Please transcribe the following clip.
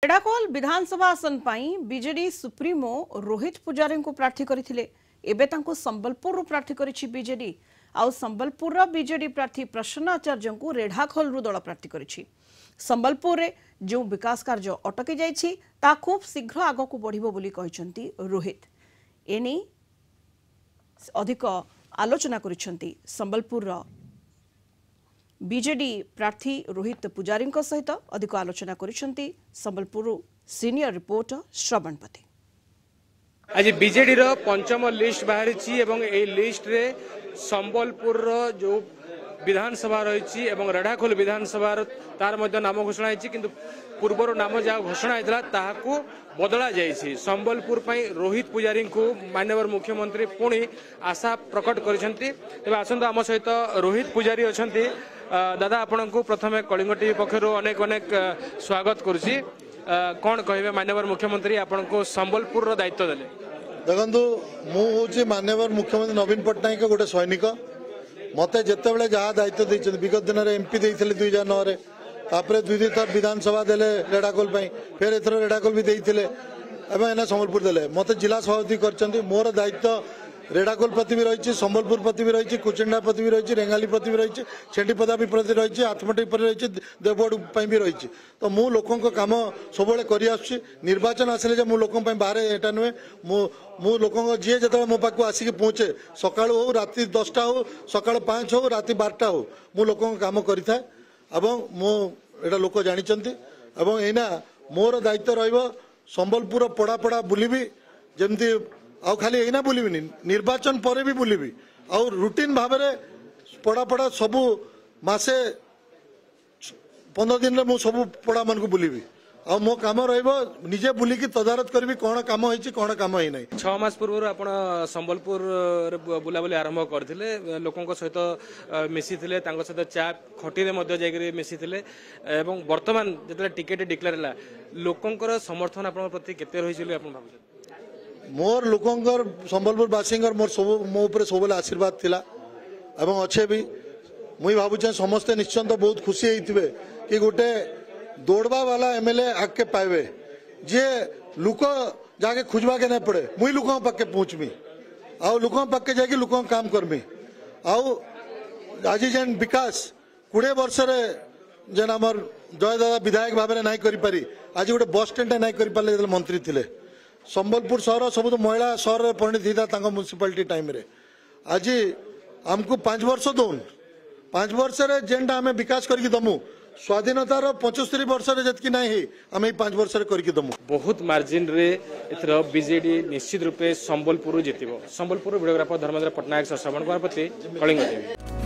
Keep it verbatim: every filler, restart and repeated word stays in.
ରେଢ଼ାଖୋଲ ବିଧାନସଭା ଆସନ ପାଇଁ ବିଜେଡି ସୁପ୍ରିମୋ ରୋହିତ ପୂଜାରୀଙ୍କୁ ପ୍ରାର୍ଥୀ କରିଥିଲେ। ଏବେ ତାଙ୍କୁ ସମ୍ବଲପୁରରୁ ପ୍ରାର୍ଥୀ କରିଛି ବିଜେଡି। ଆଉ ସମ୍ବଲପୁରର ବିଜେଡି ପ୍ରାର୍ଥୀ ପ୍ରସନ୍ନ ଆଚାର୍ଯ୍ୟଙ୍କୁ ରେଢ଼ାଖୋଲରୁ ଦଳ ପ୍ରାର୍ଥୀ କରିଛି। ସମ୍ବଲପୁରରେ ଯେଉଁ ବିକାଶ କାର୍ଯ୍ୟ ଅଟକି ଯାଇଛି, ତାହା ଖୁବ୍ ଶୀଘ୍ର ଆଗକୁ ବଢ଼ିବ ବୋଲି କହିଛନ୍ତି ରୋହିତ। ଏନେଇ ଅଧିକ ଆଲୋଚନା କରିଛନ୍ତି ସମ୍ବଲପୁରର ବିଜେଡି ପ୍ରାର୍ଥୀ ରୋହିତ ପୂଜାରୀଙ୍କ ସହିତ ଅଧିକ ଆଲୋଚନା କରିଛନ୍ତି ସମ୍ବଲପୁରରୁ ସିନିୟର ରିପୋର୍ଟର ଶ୍ରବଣ ପତି। ଆଜି ବିଜେଡିର ପଞ୍ଚମ ଲିଷ୍ଟ ବାହାରିଛି ଏବଂ ଏହି ଲିଷ୍ଟରେ ସମ୍ବଲପୁରର ଯେଉଁ ବିଧାନସଭା ରହିଛି ଏବଂ ରେଢ଼ାଖୋଲ ବିଧାନସଭାର ତାର ମଧ୍ୟ ନାମ ଘୋଷଣା ହେଇଛି, କିନ୍ତୁ ପୂର୍ବରୁ ନାମ ଯାହା ଘୋଷଣା ହେଇଥିଲା ତାହାକୁ ବଦଳା ଯାଇଛି। ସମ୍ବଲପୁର ପାଇଁ ରୋହିତ ପୂଜାରୀଙ୍କୁ ମାନ୍ୟବର ମୁଖ୍ୟମନ୍ତ୍ରୀ ପୁଣି ଆଶା ପ୍ରକଟ କରିଛନ୍ତି। ତେବେ ଆସନ୍ତୁ, ଆମ ସହିତ ରୋହିତ ପୂଜାରୀ ଅଛନ୍ତି। ଦାଦା, ଆପଣଙ୍କୁ ପ୍ରଥମେ କଳିଙ୍ଗ ଟିଭି ପକ୍ଷରୁ ଅନେକ ଅନେକ ସ୍ୱାଗତ କରୁଛି। କ'ଣ କହିବେ, ମାନ୍ୟବର ମୁଖ୍ୟମନ୍ତ୍ରୀ ଆପଣଙ୍କୁ ସମ୍ବଲପୁରର ଦାୟିତ୍ୱ ଦେଲେ? ଦେଖନ୍ତୁ, ମୁଁ ହେଉଛି ମାନ୍ୟବର ମୁଖ୍ୟମନ୍ତ୍ରୀ ନବୀନ ପଟ୍ଟନାୟକ ଗୋଟେ ସୈନିକ। ମୋତେ ଯେତେବେଳେ ଯାହା ଦାୟିତ୍ୱ ଦେଇଛନ୍ତି, ବିଗତ ଦିନରେ ଏମ୍ପି ଦେଇଥିଲେ ଦୁଇ ହଜାର ନଅରେ, ତାପରେ ଦୁଇ ଦୁଇ ଥର ବିଧାନସଭା ଦେଲେ ରେଢ଼ାଖୋଲ ପାଇଁ, ଫେର ଏଥର ରେଢ଼ାଖୋଲ ବି ଦେଇଥିଲେ ଏବଂ ଏଇନା ସମ୍ବଲପୁର ଦେଲେ, ମୋତେ ଜିଲ୍ଲା ସଭାପତି କରିଛନ୍ତି। ମୋର ଦାୟିତ୍ୱ ରେଢ଼ାଖୋଲ ପ୍ରତି ବି ରହିଛି, ସମ୍ବଲପୁର ପ୍ରତି ବି ରହିଛି, କୁଚିଣ୍ଡା ପ୍ରତି ବି ରହିଛି, ରେଙ୍ଗାଲି ପ୍ରତି ବି ରହିଛି, ଛେଣ୍ଡିପଦା ବି ପ୍ରତି ରହିଛି, ଆତ୍ମଟି ପ୍ରତି ରହିଛି, ଦେବଗଡ଼ ପାଇଁ ବି ରହିଛି। ତ ମୁଁ ଲୋକଙ୍କ କାମ ସବୁବେଳେ କରିଆସୁଛି। ନିର୍ବାଚନ ଆସିଲେ ଯେ ମୁଁ ଲୋକଙ୍କ ପାଇଁ ବାହାରେ ଏଇଟା ନୁହେଁ। ମୁଁ ମୁଁ ଲୋକଙ୍କ ଯିଏ ଯେତେବେଳେ ମୋ ପାଖକୁ ଆସିକି ପହଞ୍ଚେ, ସକାଳୁ ହଉ ରାତି ଦଶଟା ହଉ, ସକାଳ ପାଞ୍ଚ ହଉ ରାତି ବାରଟା ହଉ, ମୁଁ ଲୋକଙ୍କ କାମ କରିଥାଏ ଏବଂ ମୁଁ ଏଇଟା ଲୋକ ଜାଣିଛନ୍ତି। ଏବଂ ଏଇନା ମୋର ଦାୟିତ୍ୱ ରହିବ ସମ୍ବଲପୁର ପଡ଼ା ପଡ଼ା ବୁଲିବି ଯେମିତି, ଆଉ ଖାଲି ଏଇନା ବୁଲିବିନି, ନିର୍ବାଚନ ପରେ ବି ବୁଲିବି, ଆଉ ରୁଟିନ୍ ଭାବରେ ପଡ଼ା ପଡ଼ା ସବୁ ମାସେ ପନ୍ଦର ଦିନରେ ମୁଁ ସବୁ ପଡ଼ାମାନଙ୍କୁ ବୁଲିବି। ଆଉ ମୋ କାମ ରହିବ ନିଜେ ବୁଲିକି ତଦାରଖ କରିବି କ'ଣ କାମ ହେଇଛି, କ'ଣ କାମ ହେଇନାହିଁ। ଛଅ ମାସ ପୂର୍ବରୁ ଆପଣ ସମ୍ବଲପୁରରେ ବୁଲାବୁଲି ଆରମ୍ଭ କରିଥିଲେ, ଲୋକଙ୍କ ସହିତ ମିଶିଥିଲେ, ତାଙ୍କ ସହିତ ଚା ଖଟିରେ ମଧ୍ୟ ଯାଇକରି ମିଶିଥିଲେ, ଏବଂ ବର୍ତ୍ତମାନ ଯେତେବେଳେ ଟିକେଟ୍ ଡିକ୍ଲେୟାର ହେଲା, ଲୋକଙ୍କର ସମର୍ଥନ ଆପଣଙ୍କ ପ୍ରତି କେତେ ରହିଛି ବୋଲି ଆପଣ ଭାବୁଛନ୍ତି? ମୋର ଲୋକଙ୍କର, ସମ୍ବଲପୁରବାସୀଙ୍କର ମୋର ସବୁ ମୋ ଉପରେ ସବୁବେଳେ ଆଶୀର୍ବାଦ ଥିଲା ଏବଂ ଅଛେ ବି। ମୁଇଁ ଭାବୁଛେ ସମସ୍ତେ ନିଶ୍ଚନ୍ତ ବହୁତ ଖୁସି ହେଇଥିବେ କି ଗୋଟେ ଦୌଡ଼ବା ବାଲା ଏମଏଲଏ ଆଗକେ ପାଇବେ, ଯିଏ ଲୋକ ଯାକେ ଖୋଜବାକେ ନାଇଁ ପଡ଼େ, ମୁଇଁ ଲୋକଙ୍କ ପାଖକେ ପହଞ୍ଚମି ଆଉ ଲୋକଙ୍କ ପାଖକେ ଯାଇକି ଲୋକଙ୍କ କାମ କରମି। ଆଉ ଆଜି ଯେନ୍ ବିକାଶ କୋଡ଼ିଏ ବର୍ଷରେ ଯେନ୍ ଆମର ଜୟ ଦାଦା ବିଧାୟକ ଭାବରେ ନାଇଁ କରିପାରି, ଆଜି ଗୋଟେ ବସ୍ ଷ୍ଟାଣ୍ଡଟା ନାଇଁ କରିପାରିଲେ ଯେତେବେଳେ ମନ୍ତ୍ରୀ ଥିଲେ, ସମ୍ବଲପୁର ସହର ସବୁଠୁ ମହିଳା ସହରରେ ପରିଣତ ହେଇଥିଲା ତାଙ୍କ ମ୍ୟୁନିସିପାଲିଟି ଟାଇମ୍ରେ। ଆଜି ଆମକୁ ପାଞ୍ଚ ବର୍ଷ ଦଉନ୍, ପାଞ୍ଚ ବର୍ଷରେ ଯେନ୍ଟା ଆମେ ବିକାଶ କରିକି ଦମୁ, ସ୍ୱାଧୀନତାର ପଞ୍ଚସ୍ତରୀ ବର୍ଷରେ ଯେତିକି ନାହିଁ ହେଇ, ଆମେ ଏଇ ପାଞ୍ଚ ବର୍ଷରେ କରିକି ଦମୁ। ବହୁତ ମାର୍ଜିନରେ ଏଥର ବିଜେଡି ନିଶ୍ଚିତ ରୂପେ ସମ୍ବଲପୁରରୁ ଜିତିବ। ସମ୍ବଲପୁର ଭିଡ଼ିଓଗ୍ରାଫର ଧର୍ମେନ୍ଦ୍ର ପଟ୍ଟନାୟକ ସହ ଶ୍ରବଣ କୁମାର ପତି, କଳିଙ୍ଗ ଟିଭି।